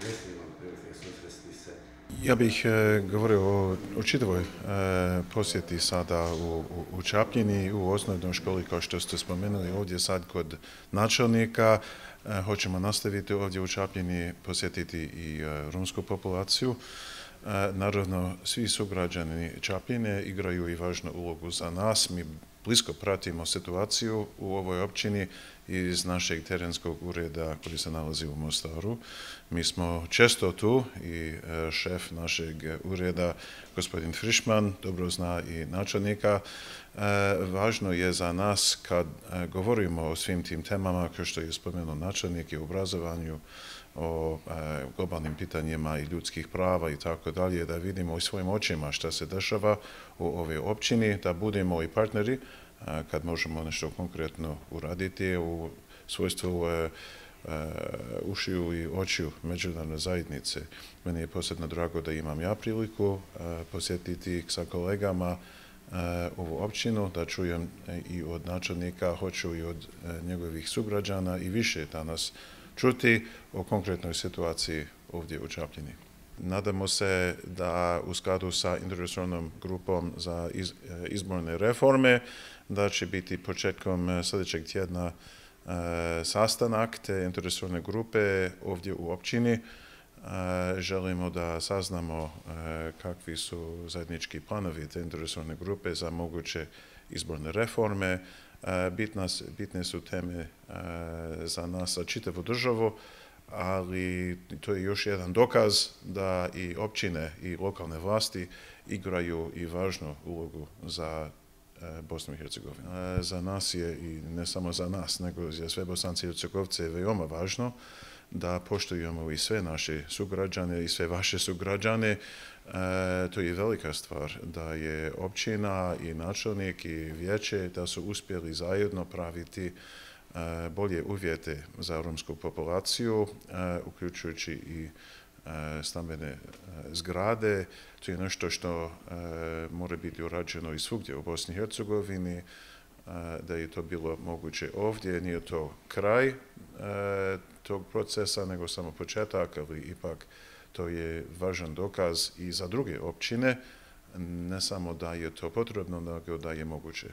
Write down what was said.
jeste imali prilike susresti se? Ja bih govorio o čitavoj posjeti sada u Čapljini, u osnovnoj školi, kao što ste spomenuli ovdje sad kod načelnika. Hoćemo nastaviti ovdje u Čapljini, posjetiti i romsku populaciju. Naravno, svi sugrađani Čapljine igraju i važnu ulogu za nas. Mi blisko pratimo situaciju u ovoj općini iz našeg terenskog ureda koji se nalazi u Mostaru. Mi smo često tu i šef našeg ureda, gospodin Frišman, dobro zna i načelnika. Važno je za nas kad govorimo o svim tim temama, kao što je spomenuo načelnik, i o obrazovanju, o globalnim pitanjima i ljudskih prava i tako dalje, da vidimo i svojim očima šta se dešava u ovoj općini, da budemo i partneri kad možemo nešto konkretno uraditi u svojstvu ušiju i očiju međunarodne zajednice. Meni je posebno drago da imam ja priliku posjetiti sa kolegama ovu općinu, da čujem i od načelnika, hoću i od njegovih sugrađana i više danas čuti o konkretnoj situaciji ovdje u Čapljini. Nadamo se da u skladu sa interresornom grupom za izborne reforme da će biti početkom sljedećeg tjedna sastanak te interresorne grupe ovdje u općini. Želimo da saznamo kakvi su zajednički planovi te interresorne grupe za moguće izborne reforme. Bitne su teme za nas, za čitavu državu, ali to je još jedan dokaz da i općine i lokalne vlasti igraju i važnu ulogu za Bosnu i Hercegovinu. Za nas je, i ne samo za nas, nego za sve Bosance i Hercegovce, veoma važno da poštujemo i sve naše sugrađane i sve vaše sugrađane. To je velika stvar da je općina i načelnik i vijeće da su uspjeli zajedno praviti bolje uvjete za romsku populaciju, uključujući i stambene zgrade. To je nešto što mora biti urađeno i svugdje u Bosni i Hercegovini, da je to bilo moguće ovdje. Nije to kraj tog procesa, nego samo početak, ali ipak to je važan dokaz i za druge općine, ne samo da je to potrebno, nego da je moguće.